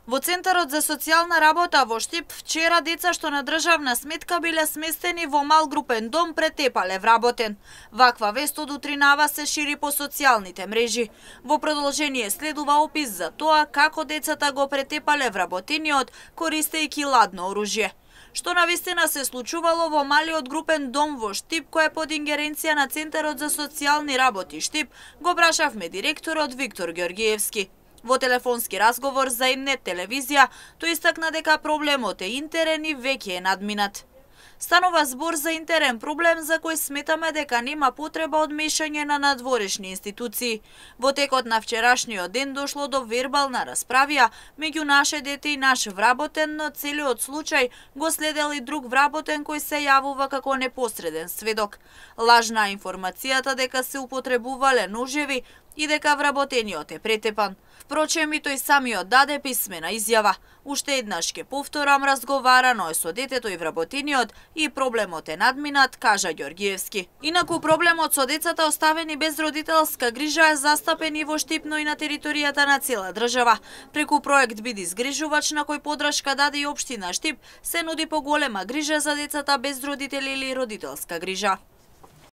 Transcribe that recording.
Во Центарот за социјална работа во Штип вчера деца што на државна сметка биле сместени во мал групен дом претепале вработен. Ваква вест од утринава се шири по социјалните мрежи. Во продолжение следува опис за тоа како децата го претепале вработениот користејќи ладно оружје. Што навистина се случувало во малиот групен дом во Штип, кој е под ингеренција на Центарот за социјални работи Штип, го прашавме директорот Виктор Георгиевски. Во телефонски разговор за Инет телевизија, тој истакна дека проблемот е интерен и веќе е надминат. Станува збор за интерен проблем за кој сметаме дека нема потреба од мешање на надворешни институции. Во текот на вчерашниот ден дошло до вербална расправија меѓу наше дете и наш вработен, но целиот случај го следел и друг вработен кој се јавува како непосреден сведок. Лажна информацијата дека се употребувале ножеви и дека вработениот е претепан. Впрочем, и тој самиот даде писмена изјава. Уште еднаш ке повторам, разговарано е со детето и вработениот и проблемот е надминат, кажа Ѓоргиевски. Инаку проблемот со децата оставени без родителска грижа е застапен и во Штип, но и на територијата на цела држава. Преку проект Биди згрижувач, на кој подршка даде и општина Штип, се нуди поголема грижа за децата без родители или родителска грижа.